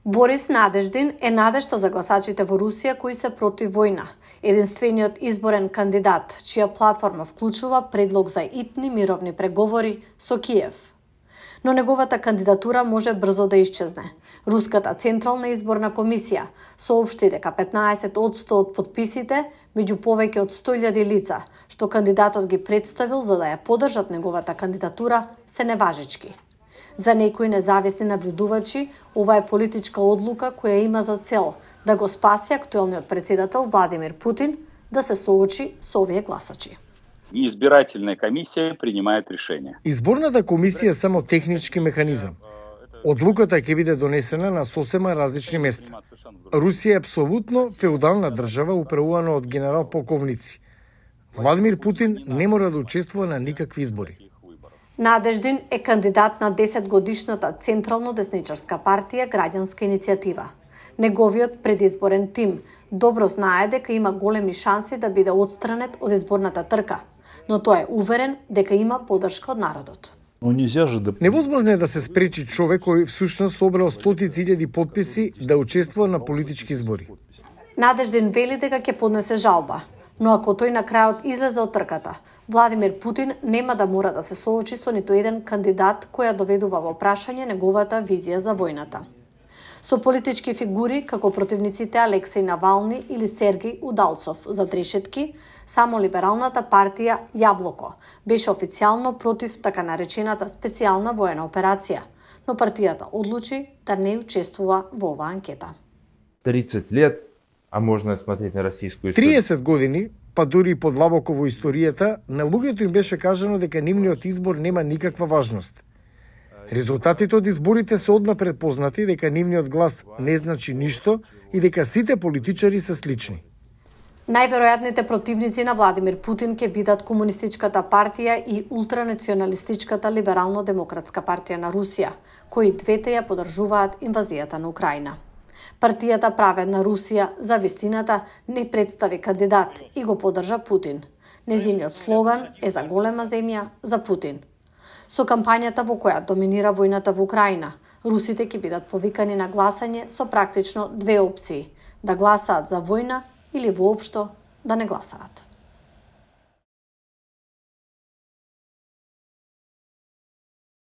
Борис Надеждин е надежта за гласачите во Русија кои се против војна. Единствениот изборен кандидат, чија платформа вклучува предлог за итни мировни преговори со Киев. Но неговата кандидатура може брзо да исчезне. Руската Централна изборна комисија соопшти дека 15% од потписите, меѓу повеќе од 100.000 лица, што кандидатот ги представил за да ја поддржат неговата кандидатура, се неважечки. За некои независни наблюдувачи, ова е политичка одлука која има за цел да го спаси актуелниот председател Владимир Путин да се соочи со овие гласачи. Избирателна комисија принимаат решение. Изборната комисија е само технички механизам. Одлуката ќе биде донесена на сосема различни места. Русија е апсолутно феудална држава управувана од генерал-полковници. Владимир Путин не мора да учествува на никакви избори. Надеждин е кандидат на 10-годишната централно-десничарска партија Граѓанска иницијатива. Неговиот предизборен тим добро знае дека има големи шанси да биде отстранет од изборната трка, но тој е уверен дека има поддршка од народот. Невозможно е да се спречи човек кој всушност собрал стотици илјади потписи да учествува на политички избори. Надеждин вели дека ќе поднесе жалба, но ако тој на крајот излезе од трката, Владимир Путин нема да мора да се соочи со ниту еден кандидат која доведува во прашање неговата визија за војната. Со политички фигури како противниците Алексеј Навални или Сергеј Удалцов за трешетки, само либералната партија Јаблоко беше официјално против така наречената специјална воена операција, но партијата одлучи да не учествува во оваа анкета. 30 лет, а можно смотреть на российскую историю. 30 години, па дури и подлабоко во историјата, на луѓето им беше кажано дека нивниот избор нема никаква важност. Резултатите од изборите се однапред познати дека нивниот глас не значи ништо и дека сите политичари се слични. Најверојатните противници на Владимир Путин ќе бидат Комунистичката партија и ултранационалистичката Либерално-демократска партија на Русија, кои двете ја поддржуваат инвазијата на Украина. Партијата Праведна Русија за вистината не представи кандидат и го поддржа Путин. Незиниот слоган е за голема земја, за Путин. Со кампањата во која доминира војната во Украина, русите ќе бидат повикани на гласање со практично две опции: да гласаат за војна или воопшто да не гласаат.